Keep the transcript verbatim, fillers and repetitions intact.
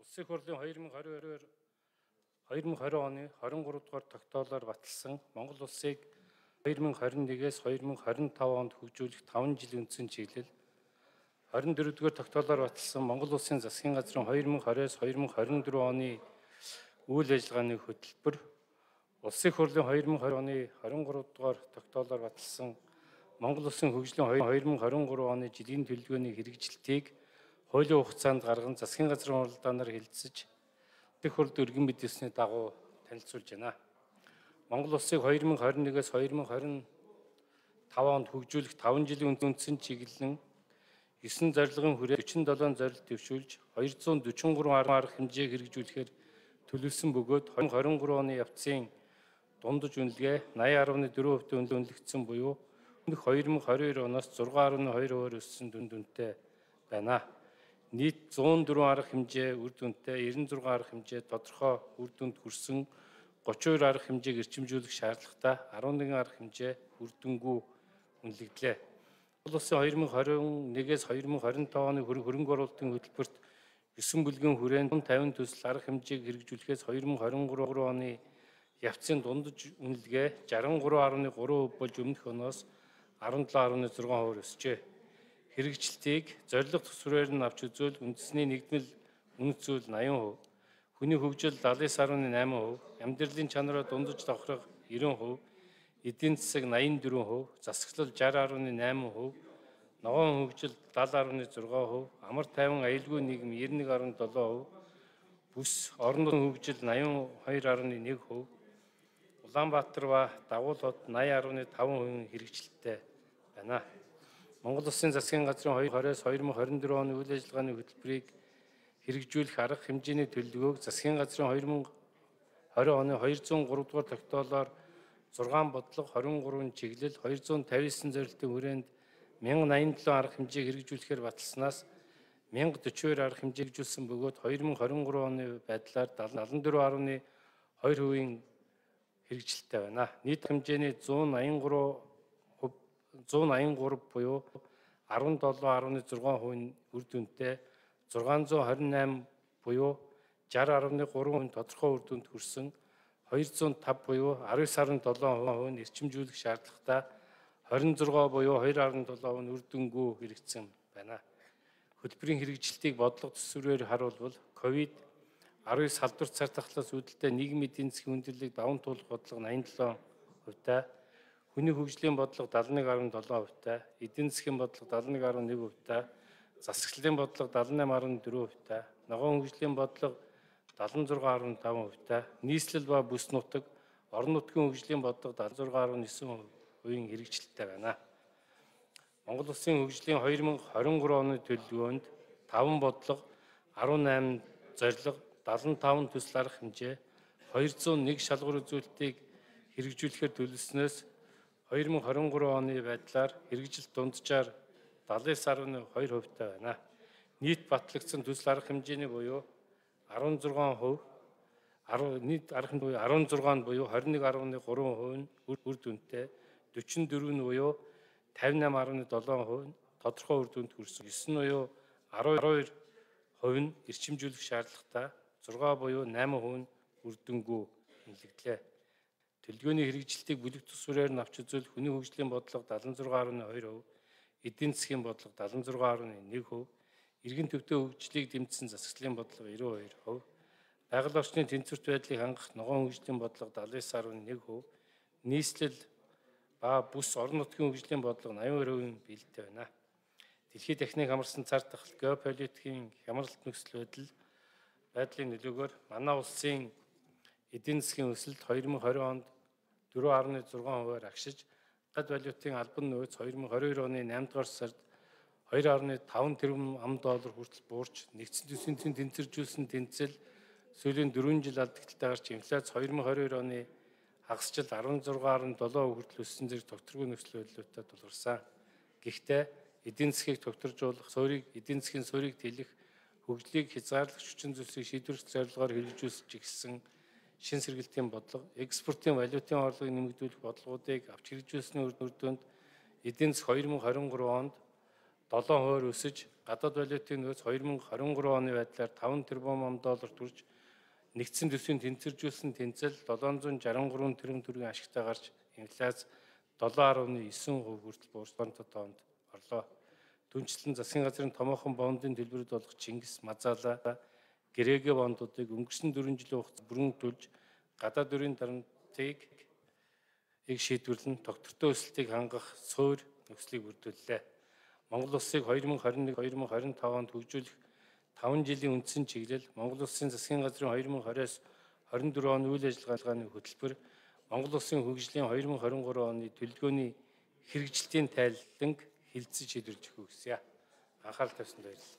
Улсын хурлын две тысячи двадцать две тысячи двадцать оны двадцать три дугаар тогтоолоор баталсан Монгол улсыг две тысячи двадцать нэгээс две тысячи двадцать пять онд хөгжүүлэх таван жилийн үндсэн чиглэл, двадцать дөрөв дугаар тогтоолоор баталсан Монгол улсын засгийн газрын две тысячи двадцать-аас две тысячи двадцать четыре оны үйл ажиллагааны хөтөлбөр, улсын хурлын две тысячи двадцать оны двадцать три дугаар тогтоолоор баталсан Монгол улсын хөгжлийн две тысячи двадцать три оны жилийн төлөвлөгөөний хэрэгжилтийг хуулийн хугацаанд гарган засгийн газрын уралдаанаар хэлэлцэж, их хурд өргөн мэдээсний дагуу танилцуулж байна. Монгол улсыг две тысячи двадцать нэгээс две тысячи двадцать пять онд хөгжүүлэх таван жилийн үндсэн чиглэлэн девять зорилгын хүрээ forty-seven зорилт дэвшүүлж two hundred forty-three арга хэмжээг хэрэгжүүлэхээр төлөвлөсөн бөгөөд две тысячи двадцать три оны явцын дундаж үнэлгээ eighty point four percent үнэлэгдсэн буюу две тысячи двадцать two оноос six point two percent өссөн дүн дүнтэй байна. Нийт one oh four арга хэмжээ үр дүнтэй ninety-six арга хэмжээ тодорхой үр дүнд хүрсэн thirty-two арга хэмжээг эрчимжүүлэх шаардлагатай eleven арга хэмжээ үр дүнгүй үнэлэгдлээ. Монгол улсын две тысячи двадцать нэгээс две тысячи двадцать пять оны хөрөнгө оруулалтын хөтөлбөрт nine бүлгийн хүрээнд fifty төсөл арга хэмжээг хэрэгжүүлэхээс две тысячи двадцать three оны явцын дундаж үнэлгээ sixty-three point three percent болж өмнөх оноос seventeen point six percent өсжээ. Хэрэгжилтийг зорилго төсвөрээр нь авч үзвэл үндэсний нэгдмэл үнэт зүйл eighty percent, хүний хөгжил seventy-nine point eight percent, амьдралын чанараа дундаж давхрах ninety percent, эдийн засаг eighty-four percent, засаглал sixty point eight percent, ногоон хөгжил seventy point six percent, амар тайван аюулгүй нийгэм ninety-one point seven percent, бүс орон нутгийн хөгжил ninety-two point one percent, Улаанбаатар ба Дагуул хот ninety point five percent хэрэгжилттэй байна. Монгол улсын засгийн газрын две тысячи двадцать-две тысячи двадцать four оны үйл ажиллагааны хөтөлбөрийг хэрэгжүүлэх арга хэмжээний төлөвлөгөөг засгийн газрын две тысячи двадцать оны two oh three дугаар тогтоолоор six бодлого twenty-three чиглэл two hundred fifty-nine зорилтын хүрээнд one thousand ninety-seven арга хэмжээг хэрэгжүүлэхээр баталснаас one thousand forty-two арга хэмжээ хэрэгжүүлсэн бөгөөд twenty twenty-three оны байдлаар seventy-four point two percent хэрэгжилттэй байна. Нийт хэмжээний one eighty-three one eighty-three буюу seventy-seven point six percent үр дүнтэй six twenty-eight буюу sixty point three percent тодорхой үр дүнд хүрсэн two oh five буюу nineteen point seven percent эрчимжүүлэх шаардлагатай twenty-six буюу two point seven percent үр дүнгүй хэрэгжсэн байна. Хөтөлбөрийн хэрэгжилтийг бодлого төсвөрөөр харуулбал ковид nineteen салбарт цар тахлаас үүдэлтэй нийгмийн эдийн засгийн хүндрэлийг даван туулах бодлого ninety-seven percent, хүний хөгжлийн бодлого seventy-one point seven percent, эдийн засгийн бодлого seventy-one point one percent, засаглалын бодлого seventy-eight point four percent, ногоон хөгжлийн бодлого seventy-six point five percent, нийслэл ба бүс нутаг, орон нутгийн хөгжлийн бодлого seventy-six point nine percent хэрэгжилттэй байна. Монгол улсын хөгжлийн две тысячи двадцать three оны төлөвлөгөөнд five бодлого, eighty-eight зорилго, seventy-five төсөл арга хэмжээ, two oh one шалгуур үзүүлэлтийг хэрэгжүүлэхээр төлөвлөснөөс две тысячи двадцать three оны байдлаар хэрэгжилт дунджаар seventy-nine point two percent байна. Нийт батлагдсан төсөл арга хэмжээний буюу sixteen percent, нийт арга хэмжээ sixteen буюу twenty-one point three percent үр дүнтэй, forty-four буюу fifty-eight point seven percent тодорхой үр дүнд хүрсэн, nine буюу twelve percent эрчимжүүлэх шаардлагатай, six буюу eight percent үр дүнгүй үнэлэгдлээ. Төлөвлөгөөний хэрэгжилтийг бүлэг төсвөрээр нь авч үзвэл хүний хөгжлийн бодлого seventy-six point two percent, эдийн засгийн бодлого seventy-six point one percent, иргэн төвтэй хөгжлийг дэмжсэн засаглалын бодлого ninety-two percent, байгаль орчны тэнцвэрт байдлыг хангах ногоон хөгжлийн бодлого seventy-nine point one percent, нийслэл ба бүс орон нутгийн хөгжлийн бодлого ninety percent биелэлтэй байна. Дэлхийд техник хамарсан цар тахал, геополитикийн хямралт нөхцөл байдал байдлын нөлөөгөөр манай улсын эдийн засгийн өсөлт twenty twenty онд four point six percent агшиж, гадаад валютын албан нөөц twenty twenty-two оны eight дугаар сард two point five тэрбум ам доллар хүртэл буурч, нэгдсэн төсвийн тэнцвэржүүлсэн тэнцэл сүүлийн four жил алдагталтай гарч, инфляц twenty twenty-two оны хагасчил sixteen point seven percent хүртэл өссөн зэрэг тогтворгүй нөхцөл байдлуудад тулгарсан. Гэхдээ эдийн засгийг тогтворжуулах, суурийг эдийн засгийн суурийг тэлэх, хөгжлийг хязгаарлагч хүчин зүйлсийг шийдвэрлэх зорилгоор хэрэгжүүлж ирсэн шин сэргэлтийн бодлого, экспортын валютын орлогыг нэмэгдүүлэх бодлогуудыг авч хэрэгжүүлсэний үр дүнд эдийн засаг twenty twenty-three онд долоон хувиар өсөж гадаад валютын нөөц хоёр мың харин гурав оны байдлаар таван тэрбум ам доллар хүрч нэгдсэн төсвийн тэнцвэржүүлсэн тэнцэл долоон зуун шаран гурван тэрбум төгрөгийн ашигтай гарч инфляц долоон гаруй девять хувь хүртэл буурсантай тоонд орлоо. Түүнчлэн засгийн газрын томоохон бондын төлбөрөд болох Чингис Мазаала гэрээгээ бондуудыг өнгөрсөн дөрвөн жилийн хугацаанд бүрэн төлж гадаад өрийн дарамтыг ийг шийдвэрлэн доктортой өсөлтийг хангах суур нөхцөлийг бүрдүүллээ. Монгол улсыг хоёр мың харин нэг хоёр мың харин тавд онд хөгжүүлэх таван жилийн үндсэн чиглэл Монгол Улсын засгийн газрын хоёр мың двадцать хорин дөрөв оны үйл ажиллагааны хөтөлбөр Монгол Улсын хөгжлийн хоёр мың хорин гурав оны төлөвлөгөөний хэрэгжилтийн тайланг хилцэж шийдвэрлэж өгөх гэсэн. Анхаарал тавьсанд баярлалаа.